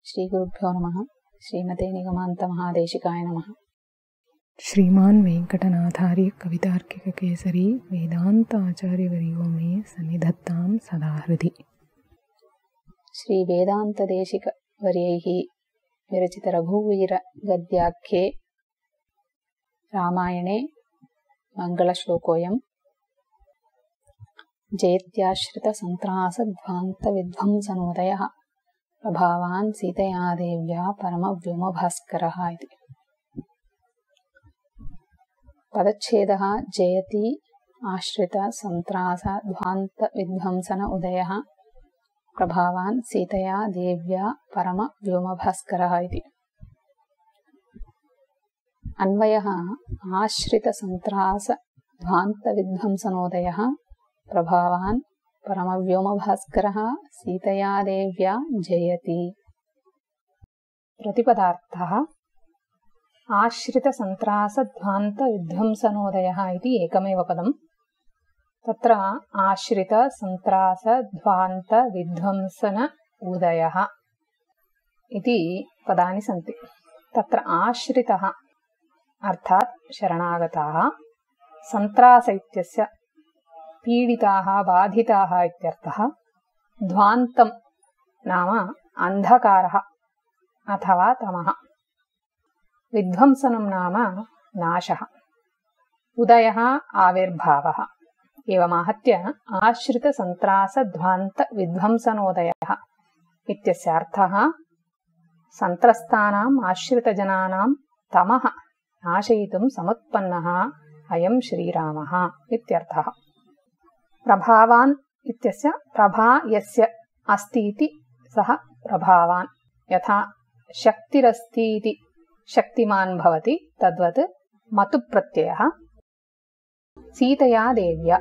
श्रीगुरुभ्यो नमः। श्रीमते निगमान्तमहादेशिकाय नमः। श्रीमान् वेङ्कटनाथार्य कवितार्किककेसरी वेदान्ताचार्यवर्यो मे सन्निधत्तां सदा हृदि। श्री वेदान्तदेशिकवर्यैः विरचित रघुवीरगद्याख्ये रामायणे मङ्गलश्लोकोऽयम्। जयत्याश्रितसन्त्रासध्वान्तविध्वंसनोदयः प्रभावान् सीतया देव्या परमव्योमभास्करः इति। पदच्छेदः जयति आश्रितसन्त्रासध्वान्तविध्वंसन उदयः प्रभावान् सीतया देव्या परमव्योमभास्करः इति। अन्वयः आश्रितसन्त्रासध्वान्तविध्वंसनोदयः प्रभावान् परमव्योमभास्करः सीतया देव्या जयति। प्रतिपदार्थः आश्रितसन्त्रासध्वान्तविध्वंसनोदयः इति एकमेव पदम्। तत्र आश्रितसन्त्रासध्वान्तविध्वंसन उदयः इति पदानि सन्ति। तत्र आश्रितः अर्थात् शरणागताः, सन्त्रास इत्यस्य पीडिताः बाधिताः इत्यर्थः, ध्वान्तं नाम अन्धकारः अथवा तमः, विध्वंसनं नाम नाशः, उदयः आविर्भावः। एवमाहत्य आश्रितसन्त्रासध्वान्तविध्वंसनोदयः इत्यस्य अर्थः सन्त्रस्तानाम् आश्रितजनानां तमः नाशयितुं समुत्पन्नः अयं श्रीरामः इत्यर्थः। प्रभावान् इत्यस्य प्रभा यस्य अस्ति इति सः प्रभावान्, यथा शक्तिरस्ति इति शक्तिमान् भवति तद्वत् मतुप्रत्ययः। सीतया देव्या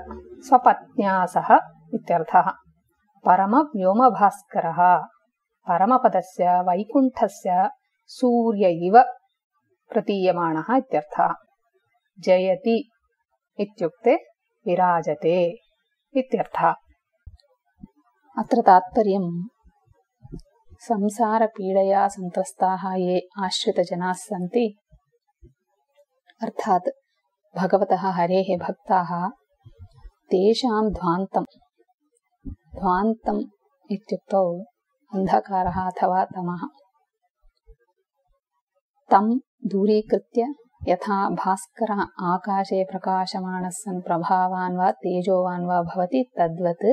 स्वपत्न्या सह इत्यर्थः। परमव्योमभास्करः परमपदस्य वैकुण्ठस्य सूर्य इव प्रतीयमानः इत्यर्थः। जयति इत्युक्ते विराजते इत्यर्थः। अत्र तात्पर्यं संसारपीडया सन्त्रस्ताः ये आश्रितजनाः सन्ति, अर्थात् भगवतः हरेः भक्ताः, तेषां ध्वान्तम् इत्युक्तौ अन्धकारः अथवा तमः, तं दूरीकृत्य यथा भास्करः आकाशे प्रकाशमानः सन् प्रभावान् वा तेजोवान् वा भवति तद्वत्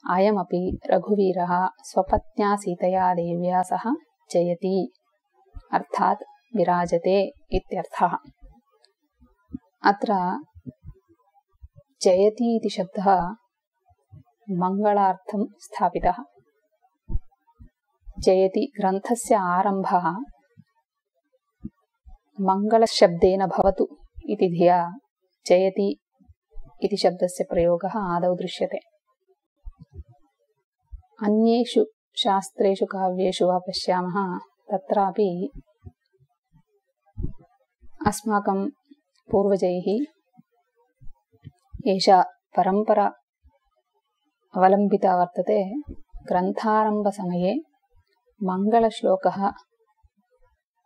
अयमपि रघुवीरः स्वपत्न्या सीतया देव्या सह जयति अर्थात् विराजते इत्यर्थः। अत्र जयति इति शब्दः मङ्गलार्थं स्थापितः। जयति ग्रन्थस्य आरम्भः मङ्गलशब्देन भवतु इति धिया जयति इति शब्दस्य प्रयोगः आदौ दृश्यते। अन्येषु शास्त्रेषु काव्येषु वा पश्यामः, तत्रापि अस्माकं पूर्वजैः एषा परम्परा अवलम्बिता वर्तते। ग्रन्थारम्भसमये मङ्गलश्लोकः,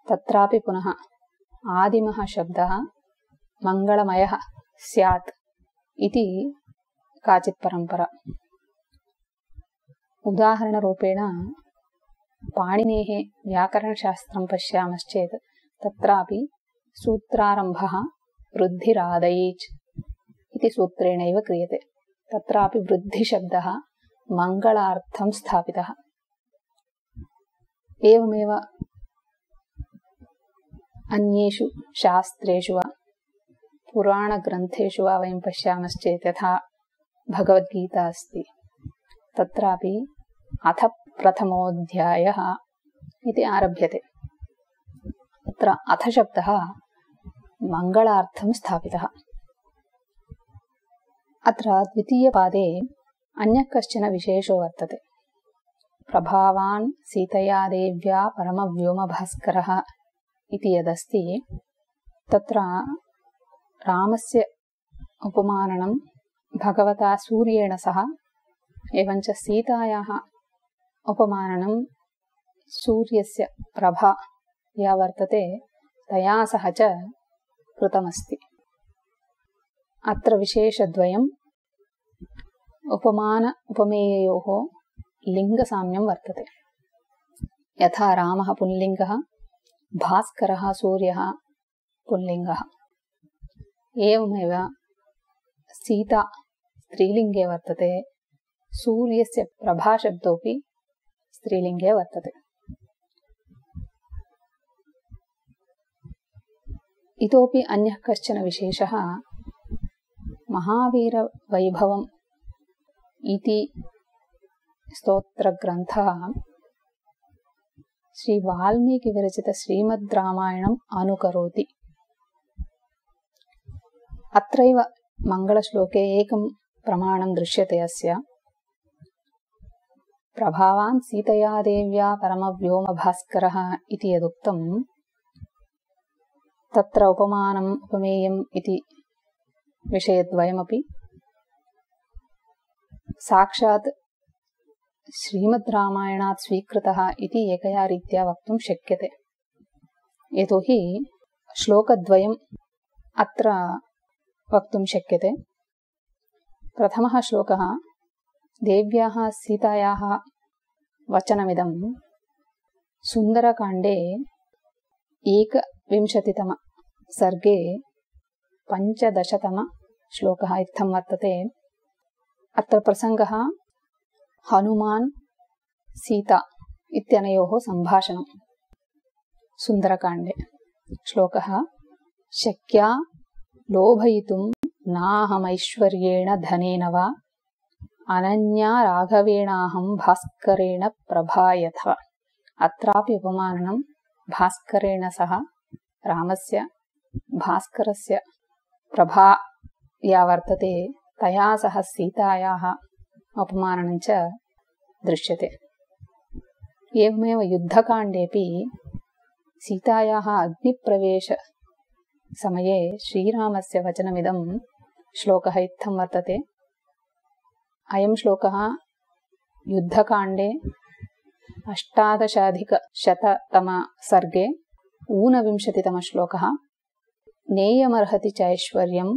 तत्रापि पुनः आदिमः शब्दः मङ्गलमयः स्यात् इति काचित् परम्परा। उदाहरणरूपेण पाणिनेः व्याकरणशास्त्रं पश्यामश्चेत् तत्रापि सूत्रारम्भः वृद्धिरादैच् इति सूत्रेणैव क्रियते। तत्रापि वृद्धिशब्दः मङ्गलार्थं स्थापितः। एवमेव अन्येषु शास्त्रेषु वा पुराणग्रन्थेषु वा वयं पश्यामश्चेत् यथा भगवद्गीता अस्ति, तत्रापि अथ प्रथमोऽध्यायः इति आरभ्यते। तत्र अथ शब्दः मङ्गलार्थं स्थापितः। अत्र द्वितीयपादे अन्यः कश्चन विशेषो वर्तते। प्रभावान् सीतया देव्या परमव्योमभास्करः इति यदस्ति, तत्र रामस्य उपमाननं भगवता सूर्येण सह एवञ्च सीतायाः उपमाननं सूर्यस्य प्रभा या वर्तते तया सह च कृतमस्ति। अत्र विशेषद्वयम् उपमान उपमेययोः लिङ्गसाम्यं वर्तते। यथा रामः पुल्लिङ्गः, भास्करः सूर्यः पुल्लिङ्गः, एवमेव सीता स्त्रीलिङ्गे वर्तते, सूर्यस्य प्रभाशब्दोऽपि स्त्रीलिङ्गे वर्तते। इतोपि अन्यः कश्चन विशेषः महावीरवैभवम् इति स्तोत्रग्रन्थः श्री वाल्मीकिविरचित श्रीमद् रामायणम् अनुकरोति। अत्रैव मङ्गलश्लोके एकं प्रमाणं दृश्यते अस्य। प्रभावान् सीतया देव्या परमव्योमभास्करः इति यदुक्तं तत्र उपमानम् उपमेयम् इति विषयद्वयमपि साक्षात् श्रीमद् रामायणात् स्वीकृतः इति एकया रीत्या वक्तुं शक्यते। यतोहि श्लोकद्वयम् अत्र वक्तुं शक्यते। प्रथमः श्लोकः देव्याः सीतायाः वचनमिदं सुन्दरकाण्डे 21तम सर्गे 15तम श्लोकः इत्थं वर्तते। अत्र प्रसङ्गः हनुमान् सीता इत्यनयोः सम्भाषणं सुन्दरकाण्डे। श्लोकः शक्या लोभयितुं नाहमैश्वर्येण धनेन वा अनन्या राघवेणाहं भास्करेण प्रभा यथा। अत्रापि उपमानं भास्करेण सह रामस्य भास्करस्य प्रभा या वर्तते तया सह सीतायाः उपमानं च दृश्यते। एवमेव युद्धकाण्डेऽपि सीतायाः अग्निप्रवेशसमये श्रीरामस्य वचनमिदं श्लोकः इत्थं वर्तते। अयं श्लोकः युद्धकाण्डे 18अधिकशततम सर्गे 29तमः श्लोकः नेयमर्हति चैश्वर्यं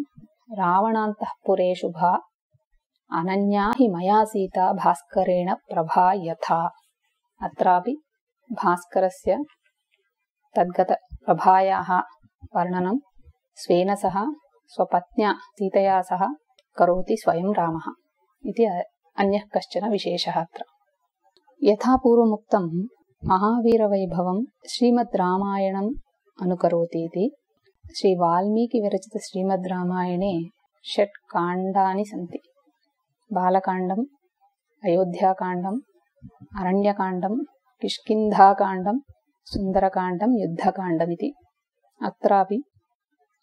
रावणान्तःपुरे शुभा अनन्या हि मया सीता भास्करेण प्रभा यथा। अत्रापि भास्करस्य तद्गतप्रभायाः वर्णनं स्वेन सह स्वपत्न्या सीतया सह करोति स्वयं रामः इति अन्यः कश्चन विशेषः अत्र। यथा पूर्वमुक्तं महावीरवैभवं श्रीमद् रामायणम् अनुकरोति इति श्री वाल्मीकिविरचित श्रीमद् रामायणे 6 काण्डानि सन्ति। बालकाण्डम्, अयोध्याकाण्डम्, अरण्यकाण्डं, किष्किन्धाकाण्डं, सुन्दरकाण्डं, युद्धकाण्डमिति। अत्रापि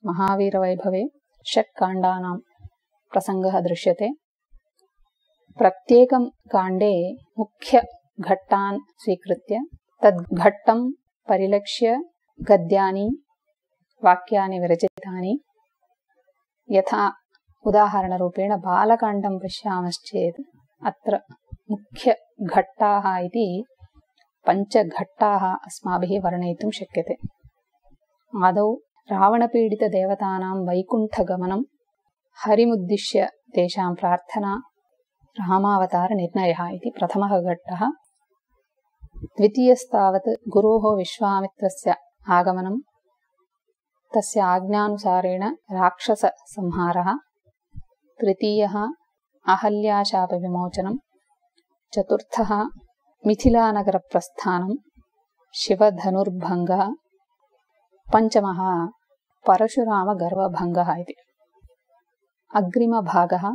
महावीरवैभवे 6 काण्डानां प्रसङ्गः दृश्यते। प्रत्येकं काण्डे मुख्यघट्टान् स्वीकृत्य तद्घट्टं परिलक्ष्य गद्यानि वाक्यानि विरचितानि। यथा उदाहरणरूपेण बालकाण्डं पश्यामश्चेत् अत्र मुख्यघट्टाः इति 5 घट्टाः अस्माभिः वर्णयितुं शक्यते। आदौ रावणपीडितदेवतानां वैकुण्ठगमनं, हरिमुद्दिश्य तेषां प्रार्थना, रामावतारनिर्णयः इति प्रथमः घट्टः। द्वितीयस्तावत् गुरोः विश्वामित्रस्य आगमनं, तस्य आज्ञानुसारेण राक्षससंहारः। तृतीयः अहल्याशापविमोचनं। चतुर्थः मिथिलानगरप्रस्थानं, शिवधनुर्भङ्गः। पञ्चमः परशुरामगर्वभङ्गः इति। अग्रिमभागः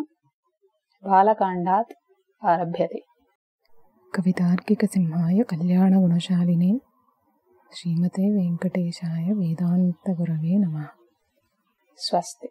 बालकाण्डात् आरभ्यते। कवितार्किकसिंहाय कल्याणगुणशालिने श्रीमते वेङ्कटेशाय वेदान्तगुरवे नमः। स्वस्ति।